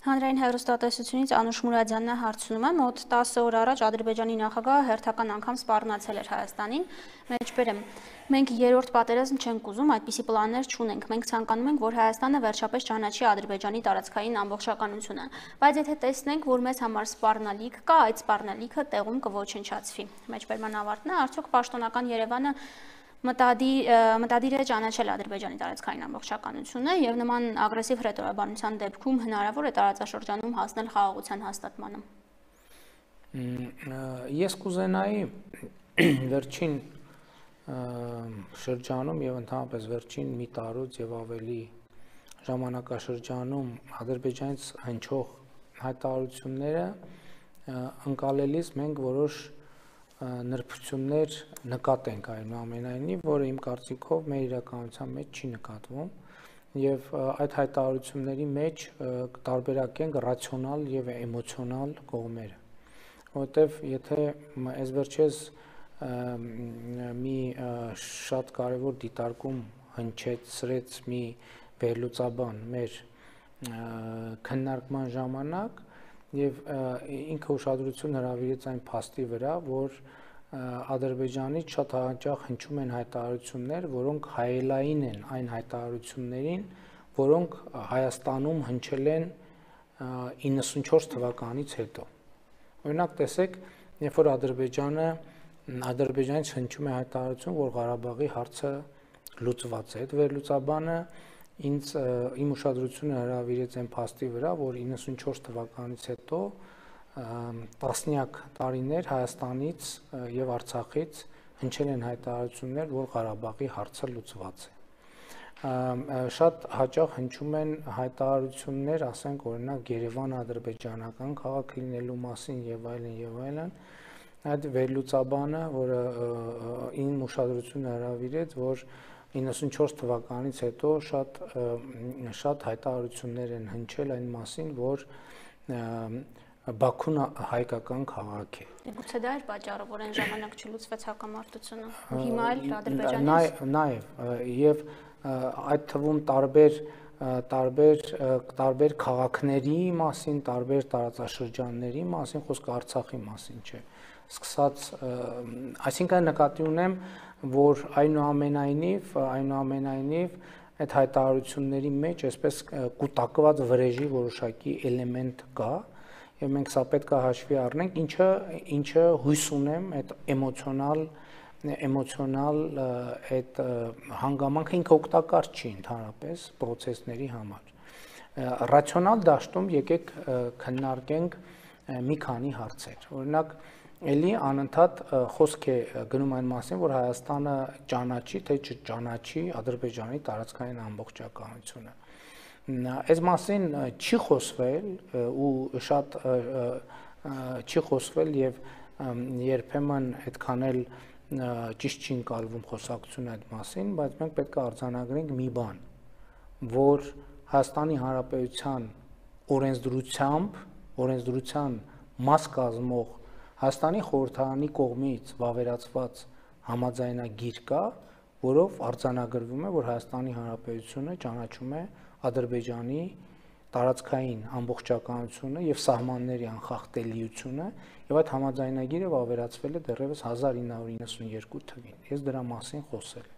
Հանրային հեռուստատեսությունից Անուշ Մուրադյանն է հարցնում է, մոտ 10 օր առաջ Ադրբեջանի նախագահը հերթական անգամ սպառնացել էր Հայաստանին, մեջբերեմ, մենք երրորդ պատերազմ չենք ուզում, այդպիսի պլաններ չունենք, մենք ցանկանում ենք, որ Հայաստանը վերջապես ճանաչի Ադրբեջանի տարածքային ամբողջականությունը, բայց եթե տեսնենք, որ մեզ համար սպառնալիք կա, այդ սպառնալիքը տեղում կոչնչացվի։ Մեջբերման ավարտն է, արդյոք պաշտոնական Երևանը մտադիր է ճանաչել Ադրբեջանի տարածքային ամբողջականությունը եւ նման ագրեսիվ հռետորաբանության դեպքում հնարավոր է տարածաշրջանում հասնել խաղաղության հաստատմանը։ Ես կուզենայի վերջին շրջանում եւ ընդհանրապես վերջին մի տարուց եւ ավելի ժամանակաշրջանում Ադրբեջանից հնչող հայտարարությունները ընկալելիս մենք որոշ նրբություններ նկատենք այնուամենայնիվ, որը իմ կարծիքով մեր իրականության մեջ չի նկատվում եւ այդ հայտարարությունների մեջ տարբերակենք ռացիոնալ եւ էմոցիոնալ կողմերը, որովհետեւ եթե այս վերջերս մի շատ կարեւոր դիտարկում հնչեցրեց մի վերլուծաբան մեր քննարկման ժամանակ եւ ինքը ուշադրություն հրավիրեց այն փաստի վրա, որ Ադրբեջանից շատ հաճախ հնչում են հայտարարություններ, որոնք հայելային են այն հայտարարություններին, որոնք Հայաստանում հնչել են 94 թվականից հետո։ Օրինակ տեսեք, երբ որ Ադրբեջանից հնչում է հայտարարություն, որ Ղարաբաղի հարցը լուծված է, այդ վերլուծաբանը իմ ուշադրությունը հրավիրեց այն փաստի վրա, որ 94 թվականից հետո տասնյակ տարիներ Հայաստանից եւ Արցախից հնչել են հայտարարություններ, որ Ղարաբաղի հարցը լուծված է։ Շատ հաճախ հնչում են հայտարարություններ, ասենք օրինակ Երևան-ադրբեջանական քաղաք լինելու մասին եւ այլն եւ այլն։ Այդ վերլուծաբանը, որը իմ ուշադրությունը հրավիրեց, որ 94 թվականից հետո շատ հայտարարություններ են հնչել այն մասին, որ Բաքուն հայկական քաղաք է։ Գուցե դա էր պատճառը, որ այն ժամանակ չլուծվեց հակամարտությունը, հիմա էլ Ադրբեջանից։ Նաեւ եւ այդ թվում տարբեր քաղաքների մասին, տարբեր տարածաշրջանների մասին, խոսքը Արցախի մասին չէ։ Սկսած, այսինքն նկատի ունեմ, որ այնուամենայնիվ այդ հայտարարությունների մեջ այսպես կուտակված վրեժի որոշակի էլեմենտ կա եւ մենք սա պետք է հաշվի առնենք, ինչը հույս ունեմ այդ էմոցիոնալ այդ հանգամանքը ինքը օգտակար չի ընդհանրապես process-ների համար։ Ռացիոնալ դաշտում եկեք քննարկենք մի քանի հարցեր։ Օրինակ Էլի անընդհատ խոսք է գնում այն մասին, որ Հայաստանը ճանաչի, թե չճանաչի Ադրբեջանի տարածքային ամբողջականությունը։ Այս մասին չի խոսվել ու շատ չի խոսվել եւ երբեմն այդքան էլ ճիշտ չի ընկալվում խոսակցությունը այդ մասին, բայց մենք պետք է արձանագրենք մի բան, որ Հայաստանի Հանրապետության օրենսդրության մաս կազմող Հայաստանի խորհրդարանի կողմից վավերացված համաձայնագիր կա, որով արձանագրվում է, որ Հայաստանի Հանրապետությունը ճանաչում է Ադրբեջանի տարածքային ամբողջականությունը եւ սահմանների անխախտելիությունը, եւ այդ համաձայնագիրը վավերացվել է դեռևս 1992 թվականին։ Ես դրա մասին խոսել